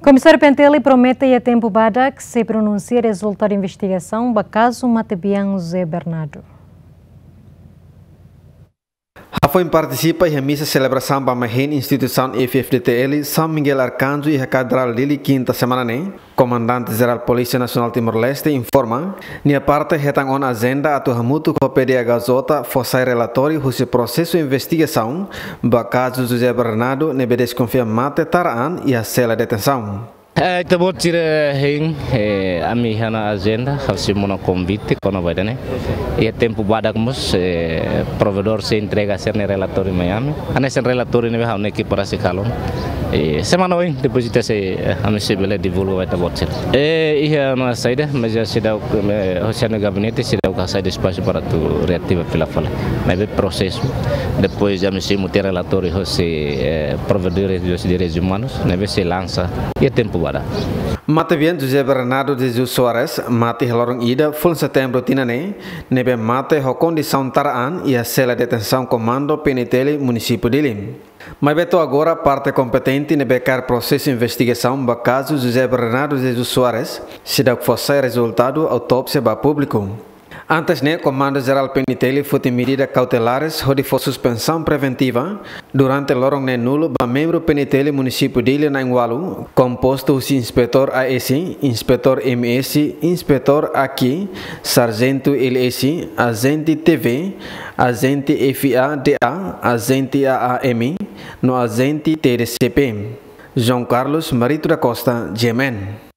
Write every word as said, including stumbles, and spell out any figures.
Komisáriu P N T L promete iha tempu badak sei pronunsia rezultadu investigasaun ba kazu matebian José Bernardo. Hafoin partisipa iha misa selebrasaun ba mahin instituisaun F F D T L São Miguel Arcanjo iha Katedrál Dili, kinta semana ne'e, Komandante Jerál Polísia Nasionál Timor-Leste informa, nia parte hetan ona ajenda atu hamutuk ho P D H J fó sai relatóriu husi prosesu investigasaun ba kazu José Bernardo ne'ebé deskonfia mate tara an iha sela detensaun. Eh, ita-boot sira hein, eh, ami iha ona ajenda, ha'u sei monu konvite, kona-ba ida-ne'e. Iha tempu badak mós, eh, provedór sei entrega sira-nia relatóriu mai ami. Hanesan relatóriu ne'ebé ha'u-nia ekipa rasik halo. Eh, semana oin, depois ita sei, eh, ami sei bele divulga ba ita-boot sira. Eh, iha ona saida, mas já seidauk, eh, hosi ha'u-nia gabinete seidauk hasai espasu para atu reativa fila fali. Maibé prosesu, depois ami sei mutin relatóriu hosi, eh, provedór dos direitos humanos, ne'ebé sei lansa iha tempu badak. Matebian José Bernardo de Jesus Soares mate iha loron ida, fulan Setembru tinan ne'e, ne'ebé mate ho kondisaun tara an iha sela detensaun komandu P N T L munisípiu Dili. Maibé to'o agora parte kompetente ne'ebé kaer prosesu investigasaun ba kazu José Bernardo de Jesus Soares seidauk fó sai rezultadu autópsia ba públiku. Antes ne'e, Komandu Jerál P N T L foti medida kautelares hodi fó suspensaun preventiva durante loron neen-nulu ba membru P N T L munisípiu Dili na'in-ualu, kompostu husi inspetór A S, inspetór M S, inspetór A Q, sarjentu L S, ajente T V, ajente F A D A, ajente A A M, no ajente T D C P. João Carlos Marito da Costa, G M N.